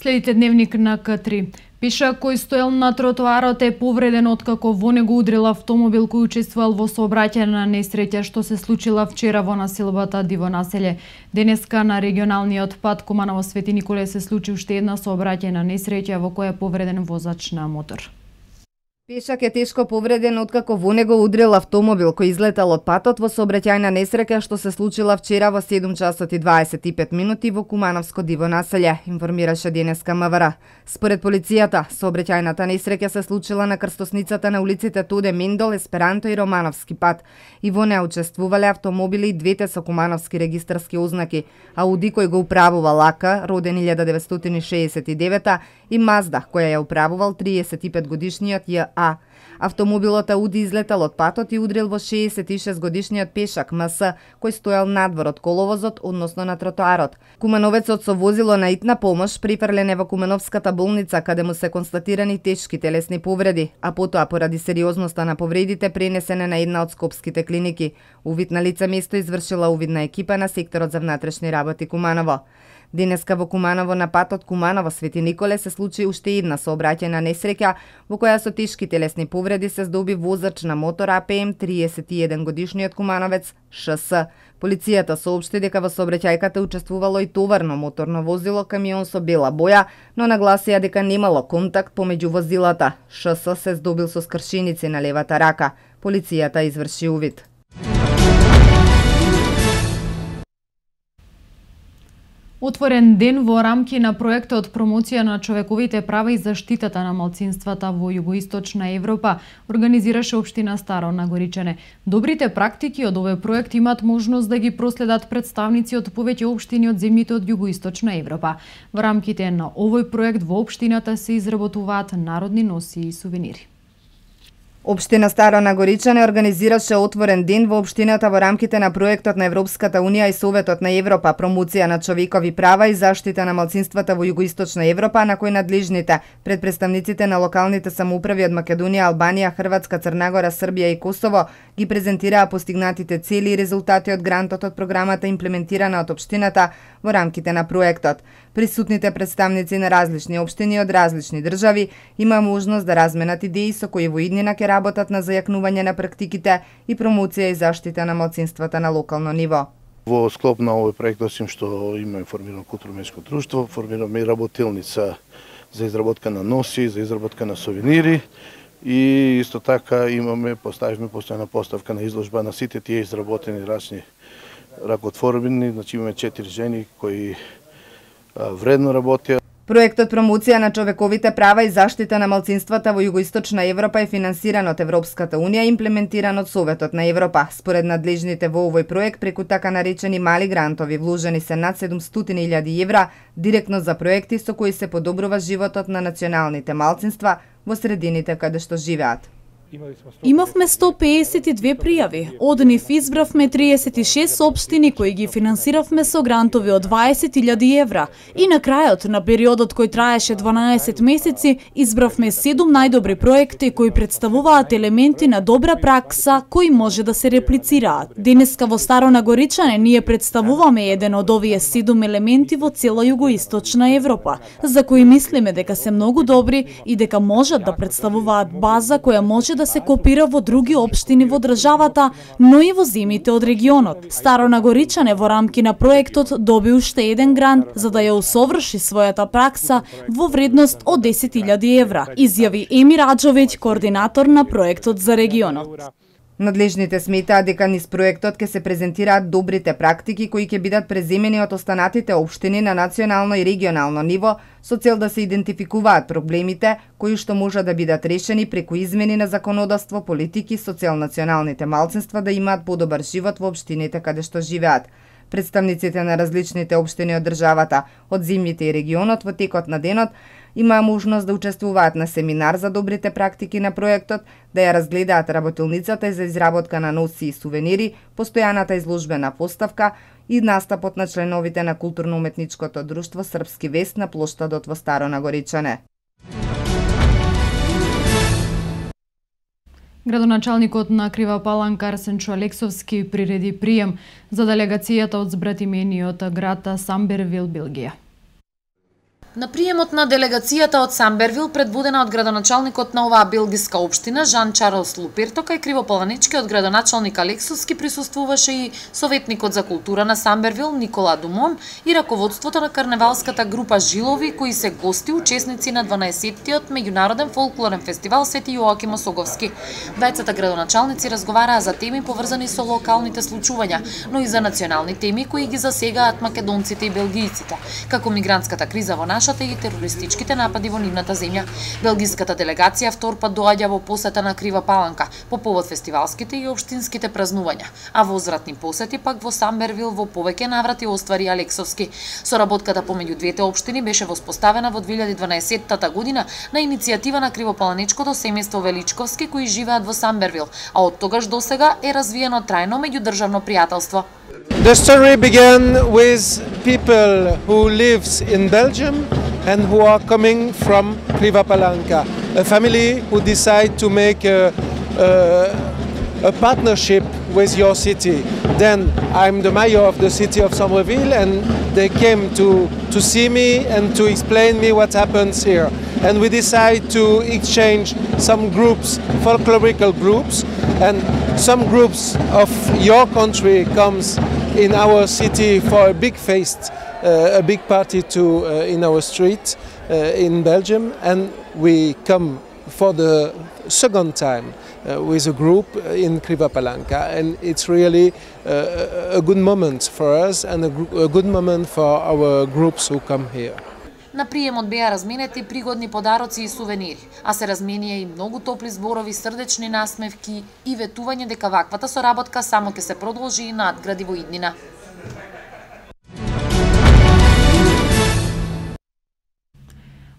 Следите дневник на К3. Пешак кој стоел на тротоарот е повреден откако во него удрил автомобил кој учествувал во сообраќајна несреќа што се случила вчера во населбата Диво населје. Денеска на регионалниот пат Куманово Свети Николе се случи уште една сообраќајна несреќа во која е повреден возач на мотор. Пешак е тешко повреден откако во него удрил автомобил кој излетал од патот во сообраќајна несреќа што се случила вчера во 7 часот и 25 минути во Кумановско Диво населје, информираше денеска МВР. Според полицијата, сообраќајната несреќа се случила на крстосницата на улиците Тоде Мендол, Есперанто и Романовски пат. И во неа учествувале автомобили и двете со кумановски регистарски ознаки, Ауди кој го управувал Лака, роден 1969 и Мазда која ја управувал 35 годишниот Ја. Автомобилот Ауди излетал од патот и удрил во 66 годишниот пешак МС кој стоел надвор од коловозот, односно на тротоарот. Кумановецот со возило на итна помош прифрлен е во Кумановската болница каде му се констатирани тешки телесни повреди, а потоа поради сериозноста на повредите пренесене на една од скопските клиники. Увид на лице место извршила увидна екипа на секторот за внатрешни работи Куманово. Денеска во Куманово на патот Куманово Свети Николе се случи уште една сообраќајна несреќа во која со тешки телесни повреди се здоби возач на мотор АПМ 31 годишниот кумановец ШС. Полицијата соопшти дека во сообраќајката учествувало и товарно моторно возило камион со бела боја, но нагласија дека немало контакт помеѓу возилата. ШС се здобил со скршеници на левата рака. Полицијата изврши увид. Отворен ден во рамки на проектот промоција на човековите права и заштитата на малцинствата во Југоисточна Европа организираше општина Старо Нагоричане. Добрите практики од овој проект имаат можност да ги проследат представници од повеќе општини од земјите од Југоисточна Европа. Во рамките на овој проект во општината се изработуваат народни носи и сувенири. Општина Старо Нагоричане организираше отворен ден во општината во рамките на проектот на Европската Унија и Советот на Европа промоција на човекови права и заштита на малцинствата во Југоисточна Европа, на кој надлежните пред представниците на локалните самоуправи од Македонија, Албанија, Хрватска, Црна Гора, Србија и Косово ги презентираа постигнатите цели и резултати од грантот од програмата имплементирана од општината во рамките на проектот. Присутните представници на различни општини од различни држави има можност да разменат идеи со кои во иднина ќе работат на зајакнување на практиките и промоција и заштита на малцинствата на локално ниво. Во склоп на овој проект, осим што има формирано културно-уметничко друштво, формираме и работилница за изработка на носи, за изработка на сувенири и исто така поставивме постојана поставка на изложба на сите тие изработени различни ракотворбини, значи имаме 4 жени кои вредно работеа. Проектот промоција на човековите права и заштита на малцинствата во Југоисточна Европа е финансиран од Европската Унија и имплементиран од Советот на Европа. Според надлежните во овој проект, преку така наречени мали грантови, вложени се над 700.000 евра директно за проекти со кои се подобрува животот на националните малцинства во средините каде што живеат. Имавме 152 пријави. Од нив избравме 36 општини кои ги финансиравме со грантови од 20.000 евра. И на крајот на периодот кој траеше 12 месеци, избравме 7 најдобри проекти кои представуваат елементи на добра пракса кои може да се реплицираат. Денеска во Старо Нагоричане ние представуваме еден од овие 7 елементи во цела Југоисточна Европа, за кои мислиме дека се многу добри и дека можат да представуваат база која може да се копира во други општини во државата, но и во земјите од регионот. Старо Нагоричане во рамки на проектот доби уште еден грант за да ја усоврши својата пракса во вредност од 10.000 евра, изјави Емир Аџовиќ, координатор на проектот за регионот. Надлежните сметаат дека низ проектот ќе се презентираат добрите практики кои ќе бидат преземени од останатите општини на национално и регионално ниво со цел да се идентификуваат проблемите кои што можат да бидат решени преку измени на законодавство, политики со цел националните малцинства да имаат подобар живот во општините каде што живеат. Представниците на различните општини од државата, од земјите и регионот во текот на денот имаа можност да учествуваат на семинар за добрите практики на проектот, да ја разгледаат работилницата за изработка на носи и сувенири, постојаната изложбена поставка и настапот на членовите на културно-уметничкото друштво Српски вест на плоштадот во Старо Нагоричане. Градоначалникот на Крива Паланка Арсенчо Алексовски приреди прием за делегацијата од збратимениот град Самбервил, Белгија. На приемот на делегацијата од Самбервил, предводена од градоначалникот на оваа белгиска општина Жан Чарлс Луперто, кај Кривополаничкиот градоначалник Алексовски присуствуваше и советникот за култура на Самбервил Никола Думон и раководството на карневалската група Жилови, кои се гости учесници на 12-тиот меѓународен фолклорен фестивал Свети Јоаким Осоговски. Двајцата градоначалници разговараа за теми поврзани со локалните случувања, но и за национални теми кои ги засегаат македонците и белгијците, како мигрантската криза во нашата и терористичките напади во нивната земја. Белгиската делегација втор пат доаѓа во посета на Крива Паланка по повод фестивалските и општинските празнувања, а возвратни посети пак во Самбервил во повеќе наврати оствари Алексовски. Соработката помеѓу двете општини беше воспоставена во 2012 година на иницијатива на Кривопаланичкото семејство Величковски кои живеат во Самбервил, а од тогаш до сега е развиено трајно меѓудржавно пријателство. The story began with people who lives in Belgium and who are coming from Kriva Palanka, a family who decide to make a partnership with your city. Then I'm the mayor of the city of Sambreville, and they came to see me and to explain me what happens here. And we decide to exchange some groups, folklorical groups, and some groups of your country comes in our city for a big feast, a big party in our street in Belgium, and we come for the second time with a group in Kriva Palanka, and it's really a good moment for us and a good moment for our groups who come here. На приемот беа разменети пригодни подароци и сувенири, а се разменија и многу топли зборови, срдечни насмевки и ветување дека ваквата соработка само ќе се продолжи и надгради во иднина.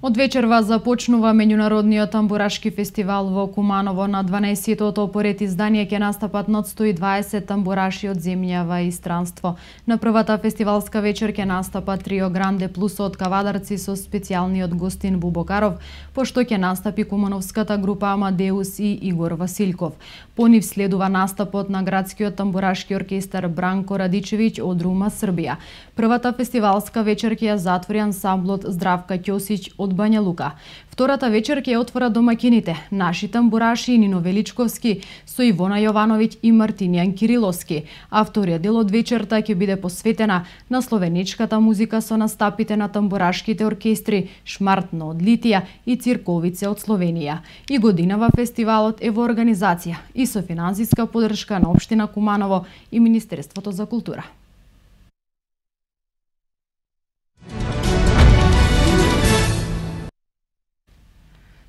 Од вечерва започнува меѓународниот тамбурашки фестивал во Куманово. На 12-тото поред издание ќе настапат над 120 тамбураши од земјава и странство. На првата фестивалска вечер ќе настапат Трио Гранде плюс од Кавадарци со специјалниот гостин Бубокаров, пошто ќе настапи кумановската група Амадеус и Игор Василков. По нив следува настапот на градскиот тамбурашки оркестар Бранко Радичевиќ од Рума, Србија. Првата фестивалска вечер ќе ја затвори ансамблот Здравка Ќосиќ од Бања Лука. Втората вечер ќе ја отвора домакините, наши тамбураши Нино Величковски со Ивона Јовановиќ и Мартинијан Кириловски, а вториот дел од вечерта ќе биде посветена на словеничката музика со настапите на тамбурашките оркестри Шмартно од Литија и Цирковице од Словенија. И годинава фестивалот е во организација и со финансиска поддршка на општина Куманово и Министерството за култура.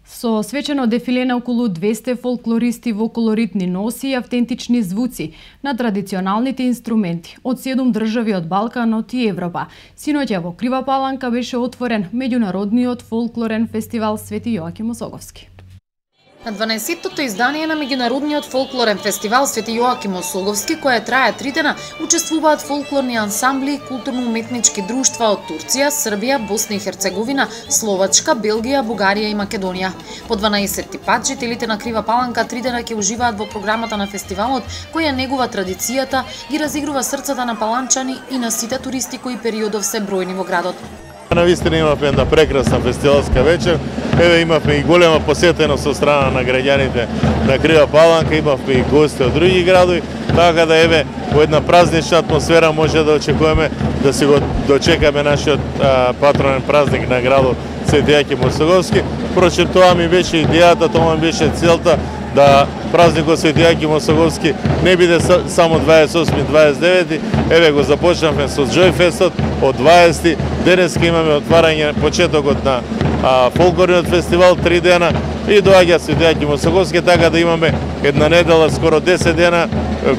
Со свечено дефиле на околу 200 фолклористи во колоритни носи и автентични звуци на традиционалните инструменти од 7 држави од Балканот и Европа. Синоќа во Крива Паланка беше отворен меѓународниот фолклорен фестивал Свети Јоаким Осоговски. На 12-тото издание на меѓународниот фолклорен фестивал Свети Јоаким Осоговски, која трае 3 дена, учествуваат фолклорни ансамбли и културно-уметнички друштва од Турција, Србија, Босна и Херцеговина, Словачка, Белгија, Бугарија и Македонија. По 12-ти пат жителите на Крива Паланка 3 дена ќе уживаат во програмата на фестивалот, која негува традицијата, ги разигрува срцата на паланчани и на сите туристи кои периодов се бројни во градот. Навистина имавме една прекрасна фестивалска вечер. Еве имавме и голема посетеност со страна на граѓаните на Крива Паланка, имавме и гости од други градови, така да еве во една празнична атмосфера може да очекуваме да се го дочекаме нашиот патронен празник на градот Свети Јоаким Осоговски. Впрочем, тоа ми беше идејата, тоа ми беше целта да празникот Свети Јоаким Осоговски не биде само 28-29, еве го започнавме со Џојфестот од 20. Денеска имаме отварање, почетокот на фолклорниот фестивал 3 дена и доаѓа Свети Јоаким Осоговски, така да имаме една недела, скоро 10 дена,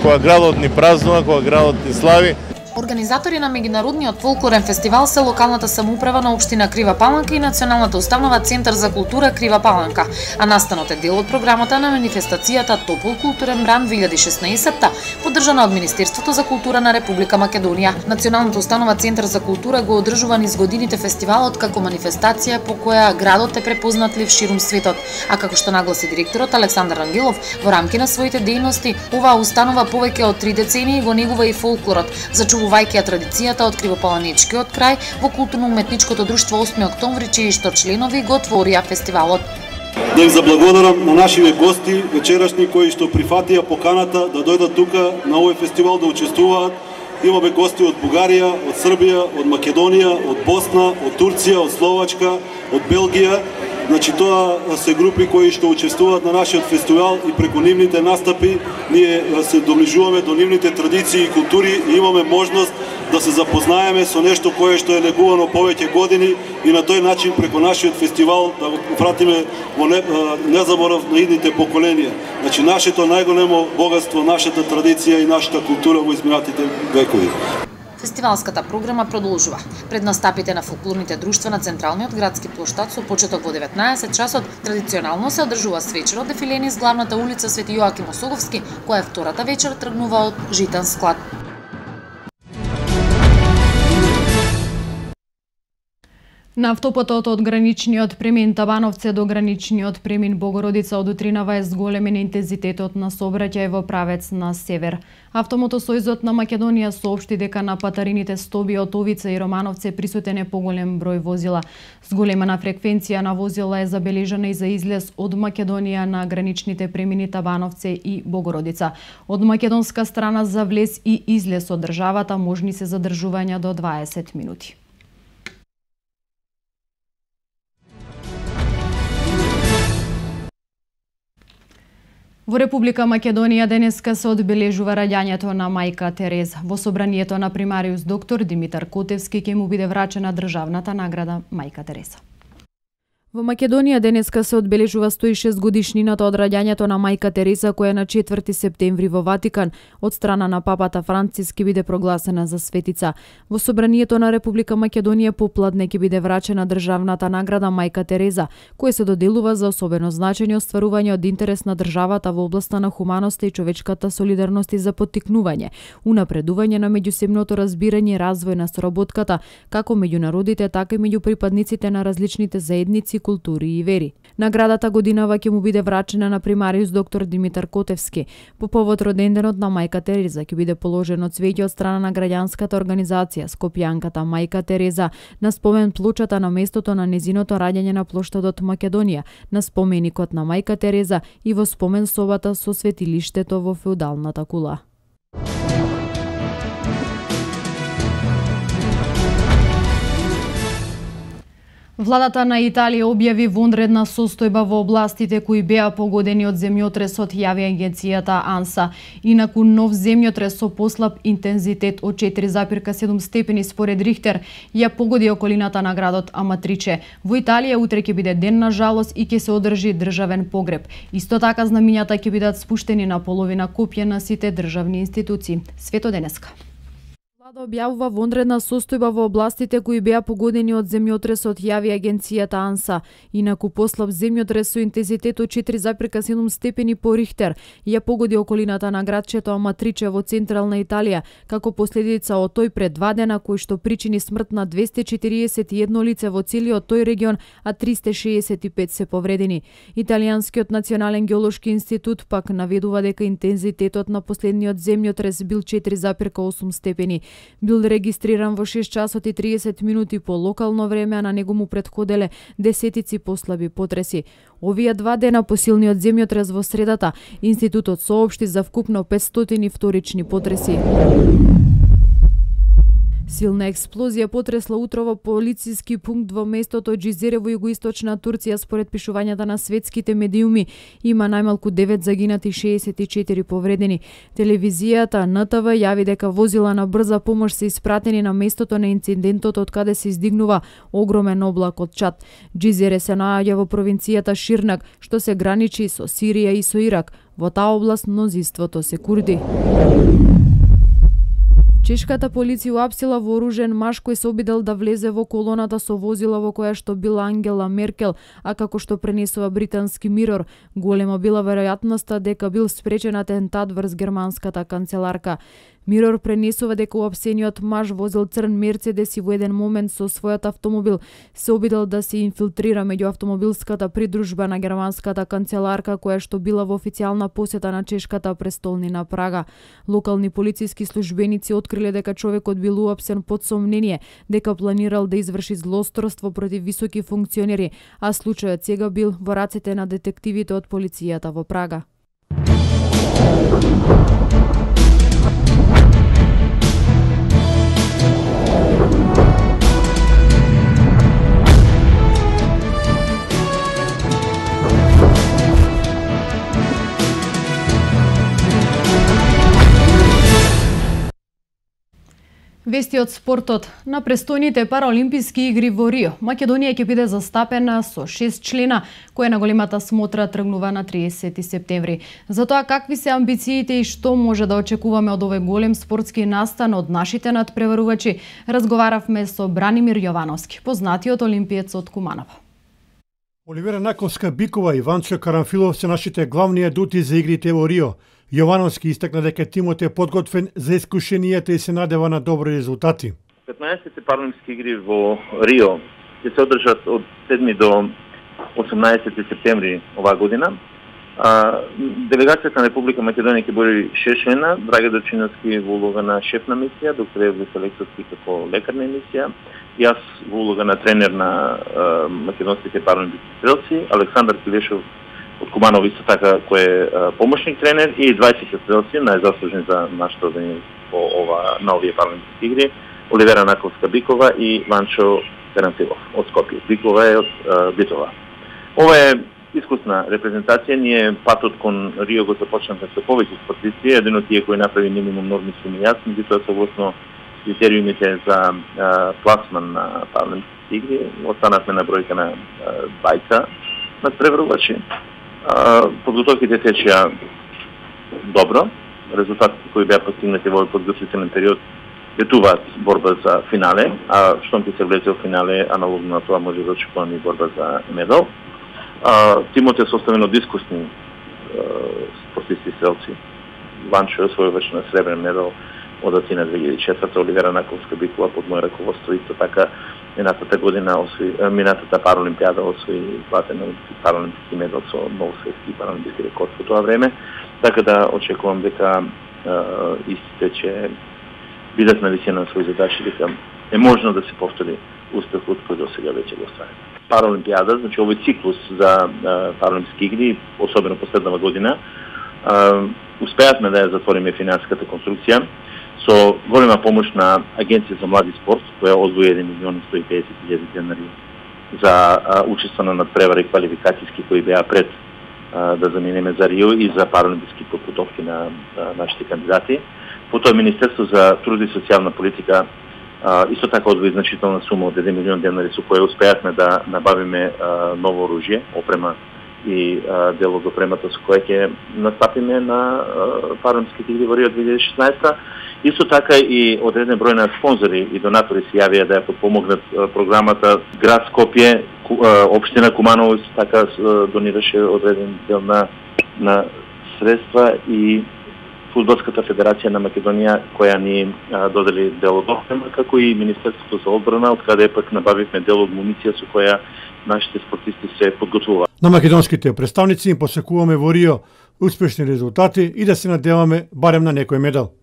кога градот ни празнува, кога градот ни слави. Организатори на меѓународниот фолклорен фестивал се локалната самоуправа на општина Крива Паланка и Националната установа Центар за култура Крива Паланка, а настанот е дел од програмата на манифестацијата Топол културен бран 2016, поддржана од Министерството за култура на Република Македонија. Националната установа Центар за култура го одржува низ годините фестивалот како манифестација по која градот е препознатлив ширум светот, а како што нагласи директорот Александар Ангелов, во рамки на своите дејности, оваа установа повеќе од 3 децении го негува и фолклорот, зачувува почитувајќи ја традицијата од Кривопаланичкиот крај, во културно-уметничкото друштво 8 октомври, чии што членови го отворија фестивалот. Да им заблагодарам на нашиве гости вечерашни кои што прифатија поканата да дојдат тука на овој фестивал да учествуваат. Имаме гости од Бугарија, од Србија, од Македонија, од Босна, од Турција, од Словачка, од Белгија. Значи тоа се групи кои што учествуваат на нашиот фестивал и преку нивните настапи ние се доближуваме до нивните традиции и култури и имаме можност да се запознаеме со нешто кое што е негувано повеќе години и на тој начин преку нашиот фестивал да го вратиме во незаборав на идните поколенија. Значи нашето најголемо богатство, нашата традиција и нашата култура во изминатите векови. Фестивалската програма продолжува. Пред настапите на фолклорните друштва на централниот градски плоштад со почеток во 19 часот традиционално се одржува свечер од дефиле низ главната улица Свети Јоаким Осоговски, која втората вечер тргнува од Житен склад. На автопатот од граничниот премин Табановце до граничниот премин Богородица од утринава е зголемен интензитетот на сообраќај во правец на север. Автомотосојзот на Македонија соопшти дека на патарините Стоби, Отовица и Романовце присутен е поголем број возила. Зголемена фреквенција на возила е забележана и за излез од Македонија на граничните премини Табановце и Богородица. Од македонска страна за влез и излез од државата можни се задржувања до 20 минути. Во Република Македонија денеска се одбележува раѓањето на мајка Тереза. Во собранието на примариус доктор Димитар Котевски ќе му биде врачена државната награда Мајка Тереза. Во Македонија денеска се одбележува 106 годишнината од раѓањето на мајка Тереза, која на 4 септември во Ватикан од страна на папата Франциск ќе биде прогласена за светица. Во собранието на Република Македонија попладне ќе биде врачена државната награда Мајка Тереза, која се доделува за особено значење остварување од интерес на државата во областа на хуманоста и човечката солидарност и за поттикнување, унапредување на меѓусебното разбирање и развој на соработката, како меѓу народите, така и меѓу припадниците на различните заедници, култури и вери. Наградата годинава ќе му биде врачена на примариус доктор Димитар Котевски. По повод роденденот на мајка Тереза ќе биде положено цвеќе од страна на граѓанската организација Скопјанката Мајка Тереза на спомен плочата на местото на незиното раѓање на плоштадот Македонија, на споменикот на мајка Тереза и во спомен собата со светилиштето во феудалната кула. Владата на Италија објави вонредна состојба во областите кои беа погодени од земјотресот, јави агенцијата АНСА. Инаку нов земјотрес со послаб интензитет од 4,7 степени според Рихтер ја погоди околината на градот Аматриче. Во Италија утре ќе биде ден на жалост и ќе се одржи државен погреб. Исто така знамињата ќе бидат спуштени на половина копија на сите државни институции. Свето денеска. Влада објавува вонредна состојба во областите кои беа погодени од земјотресот, јави агенцијата АНСА. Инаку послаб земјотрес со интензитет од 4,7 степени по Рихтер ја погоди околината на градчето Аматриче во централна Италија, како последица од тој пред 2 дена кој што причини смрт на 241 лице во целиот тој регион, а 365 се повредени. Италијанскиот национален геолошки институт пак наведува дека интензитетот на последниот земјотрес бил 4,8 степени. Бил регистриран во 6 часот и 30 минути по локално време, а на него му претходеле десетици послаби потреси. Овие 2 дена по силниот земјотрес во средата, институтот соопшти за вкупно 500 вторични потреси. Силна експлозија потресла утро во полициски пункт во местото Џизере во југоисточна Турција. Според пишувањата на светските медиуми, има најмалку 9 загинати и 64 повредени. Телевизијата НТВ јави дека возила на брза помош се испратени на местото на инцидентот, од каде се издигнува огромен облак од чад. Џизере се наоѓа во провинцијата Ширнак, што се граничи со Сирија и со Ирак. Во таа област мнозинството се курди. Чешката полиција уапсила вооружен маж кој се обидел да влезе во колоната со возила во која што била Ангела Меркел, а како што пренесува британски Мирор, голема била веројатноста дека бил спречен атентат врз германската канцеларка. Мирор пренесува дека уапсениот маж возил црн Мерцедес и во еден момент со својот автомобил се обидел да се инфилтрира меѓу автомобилската придружба на германската канцеларка која што била во официјална посета на чешката престолнина Прага. Локални полициски службеници откриле дека човекот бил уапсен под сомнение дека планирал да изврши злосторство против високи функционери, а случајот сега бил во рацете на детективите од полицијата во Прага. Вести од спортот. На престојните параолимписки игри во Рио, Македонија ќе биде застапена со 6 члена, која на големата смотра тргнува на 30 септември. За тоа какви се амбициите и што може да очекуваме од овој голем спортски настан од нашите надпреварувачи, разговаравме со Бранимир Јовановски, познатиот олимпиец од Куманово. Оливера Наковска-Бикова и Ванчо Карамфилов се нашите главни адути за игрите во Рио. Јовановски истакна дека тимот е подготвен за искушенијата и се надева на добри резултати. 15-те паралимписки игри во Рио ќе се одржат од 7 до 18 септември оваа година. Делегацијата на Република Македонија ќе брои 6 члена, Драге Дочиновски во улога на шеф на мисија, доктор Евлис Алексовски како лекар на мисија, јас во улога на тренер на македонските паралимписки стрелци, Александар Килешов од Куманово исто така кој е помошник тренер и 20 стрелци најзаслужени за нашето одење во на овие паралимписки игри, Оливера Наковска-Бикова и Ванчо Карамфилов од Скопје. Бикова е од Битова. Ова е искусна репрезентација. Ние патот кон Рио го започнавме со повеќе спортисти. Еден од тие кој направи минимум норми сум и јас, меѓутоа согласно критериумите за пласман на паралимписки игри, останавме на бројка на 20 надпреварувачи. Подготовките течеа добро. Резултатите кои беа постигнати во подготвителен период ветуваат борба за финале, а штом ќе се влезе во финале, аналогно на тоа може да очекуваме и борба за медал. Тимот е составен од искусни спортисти стрелци. Ванчо е освојуваш на сребрен медал од Атина 2004, Оливера Наковска-Бикова под моје раководство исто така минатата година минатата паралимпијада освои златен паралимписки медал со нов светски паралимписки рекорд во тоа време, така да очекувам дека истите ќе бидат на висина на своји задачи, дека е можно да се повтори успехот кој до сега веќе го остварен. Паралимпијада, значи овој циклус за паралимписки игри, особено последнава година, успеавме да ја затвориме финансиската конструкција со голема помош на Агенција за млади спорт, која одвои 1.150.000 денари за учество на надпревари квалификацијски кои беа пред да заминеме за Рио и за паралимписки подготовки на нашите кандидати. Потоа Министерство за труд и социјална политика исто така одвои значителна сума од 1 милион денари со која успеавме да набавиме ново оружје, опрема и дел од опремата со која ќе настапиме на паралимписките игри во Рио 2016. Исто така и одреден број на спонзори и донатори се јавија да ја подпомогнат програмата. Град Скопје, општина Куманово исто така донираше одреден дел на средства и Фудбалската федерација на Македонија која ни додели дел од опрема, како и Министерството за одбрана, од каде пак набавивме дел од муниција со која нашите спортисти се подготвуваат. На македонските представници им посекуваме во Рио успешни резултати и да се надеваме барем на некој медал.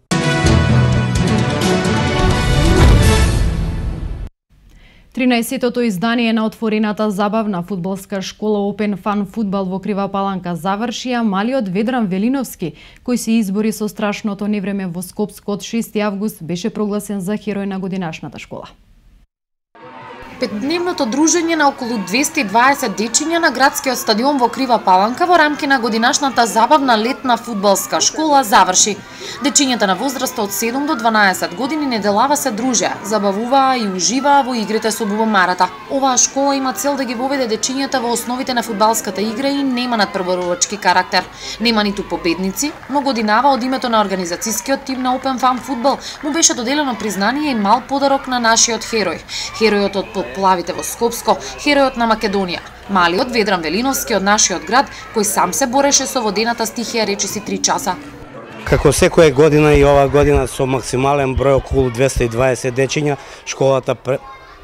Тринаесеттото издание на отворената забавна фудбалска школа Open Fun Фудбал во Крива Паланка заврши, а малиот Ведран Велиновски, кој се избори со страшното невреме во Скопско од 6 август, беше прогласен за херој на годинашната школа. Петдневното дружење на околу 220 дечиња на градскиот стадион во Крива Паланка во рамки на годинашната забавна летна фудбалска школа заврши. Дечињата на возраст од 7 до 12 години неделава се дружеа, забавуваа и уживаа во игрите со бубамарата. Оваа школа има цел да ги воведе дечињата во основите на фудбалската игра и нема надпреварувачки карактер. Нема ниту победници, но годинава од името на организацијскиот тим на Open Fun Фудбал му беше доделено признание и мал подарок на нашиот херој. Херојот од поплавите во Скопско, херојот на Македонија. Малиот Ведран Велиновски од нашиот град, кој сам се бореше со водената стихија речиси 3 часа. Како секоја година и ова година со максимален број околу 220 дечиња, школата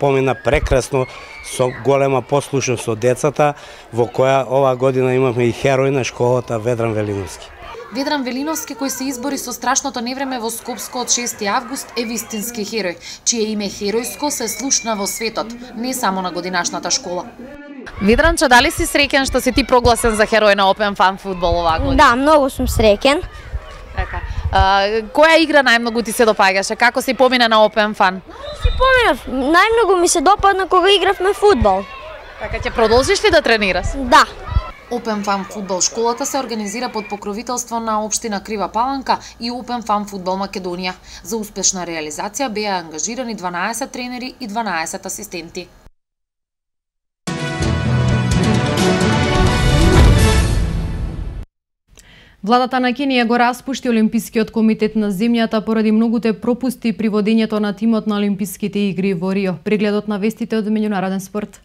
помина прекрасно со голема послушност од децата, во која ова година имавме и херој на школата Ведран Велиновски. Ведран Велиновски, кој се избори со страшното невреме во Скопско од 6 август, е вистински херој, чие име херојско се слушна во светот, не само на годинашната школа. Ведранче, дали си среќен што си ти прогласен за херој на Open Fun фудбал оваа година? Да, многу сум среќен. Така. Која игра најмногу ти се допаѓаше? Како си помина на Open Fun? Си поминав, најмногу ми се допадна кога игравме фудбал. Така, ќе продолжиш ли да тренираш? Да. Open Fun фудбал школата се организира под покровителство на општина Крива Паланка и Open Fun фудбал Македонија. За успешна реализација беа ангажирани 12 тренери и 12 асистенти. Владата на Кенија го распушти Олимпискиот комитет на земјата поради многуте пропусти при водењето на тимот на Олимписките игри во Рио. Прегледот на вестите од меѓународен спорт.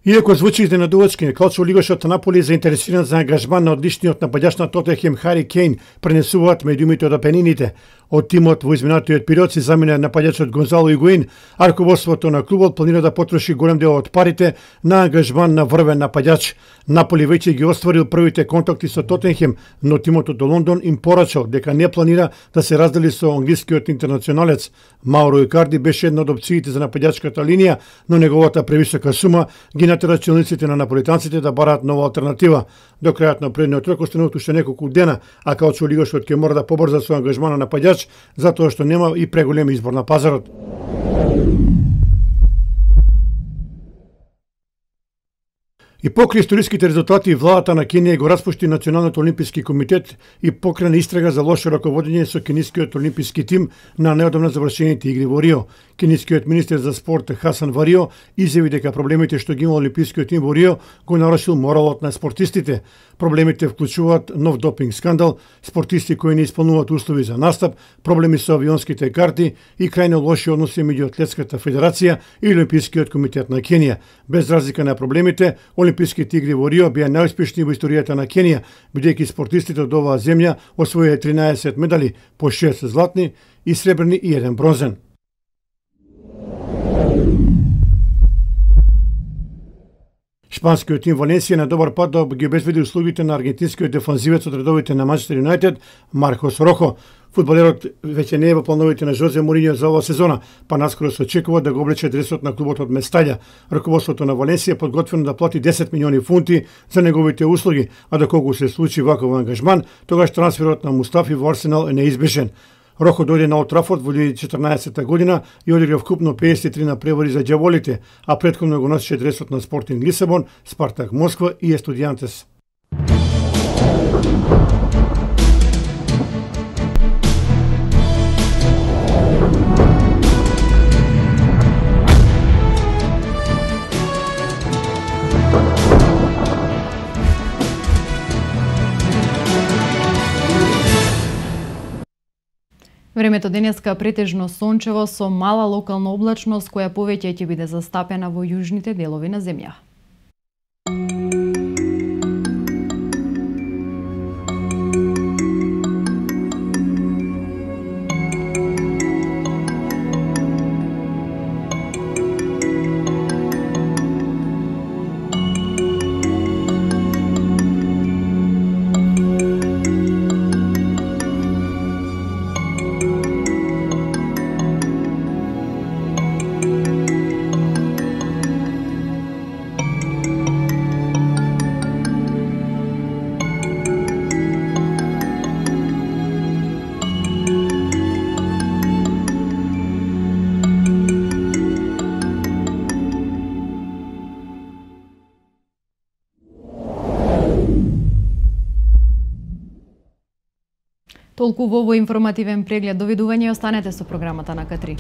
Иако звучи изненадувачки, клучо лигашот Наполи заинтересиран за ангажман на одличниот нападач на Тотенхем Хари Кейн пренесуваат медиумите од Апенините. Од тимот во изминатиот период се замина нападачот Гонзало Игуин, а раководството на клубот планира да потроши голем дел од парите на ангажман на врвен нападач. Наполи веќе ги остварил првите контакти со Тотенхем, но тимот од Лондон им порачал дека не планира да се раздели со англискиот интернационалец. Мауро Икарди беше една од опциите за нападачката линија, но неговата превисока сума ги натера челниците на наполитанците да бараат нова алтернатива. До крајот на предниот рок остануваат уште неколку дена, а каучо лигашот ќе мора да побрза со ангажман на нападач, затоа што нема и преголем избор на пазарот. И покрај историските резултати, владата на Кенија го распушти Националниот олимписки комитет и покрена истрага за лошо раководење со кенискиот олимписки тим на неодамна завршените игри во Рио. Кенискиот министер за спорт Хасан Варио изјави дека проблемите што ги има олимпискиот тим во Рио го нарушил моралот на спортистите. Проблемите вклучуваат нов допинг скандал, спортисти кои не исполнуваат услови за настап, проблеми со авионските карти и крајно лоши односи меѓу Атлетската федерација и Олимпискиот комитет на Кенија. Без разлика на проблемите, Олимписките игри во Рио беа најуспешни во историјата на Кенија, бидејќи спортистите од оваа земја освоија 13 медали, по 6 златни и сребрни и 1 бронзен. Шпанскиот тим Валенсија на добар пат да ги обезбеди услугите на аргентинскиот дефанзивец од редовите на Манчестер Юнајтед Маркос Рохо. Фудбалерот веќе не е во плановите на Жозе Мориньо за оваа сезона, па наскоро се очекува да го облече дресот на клубот од Местаља. Раководството на Валенсија подготвено да плати 10 милиони фунти за неговите услуги, а доколку се случи ваков ангажман, тогаш трансферот на Мустафи во Арсенал е неизбежен. Рохо дојде на Олд Трафорд во 2014 година и одигра вкупно 53 напревари за ѓаволите, а претходно го носеше дресот на Спортинг Лисабон, Спартак Москва и Естудијантес. Времето денеска претежно сончево со мала локална облачност која повеќе ќе биде застапена во јужните делови на земја. Толку во овој информативен преглед. Довидување и останете со програмата на К3.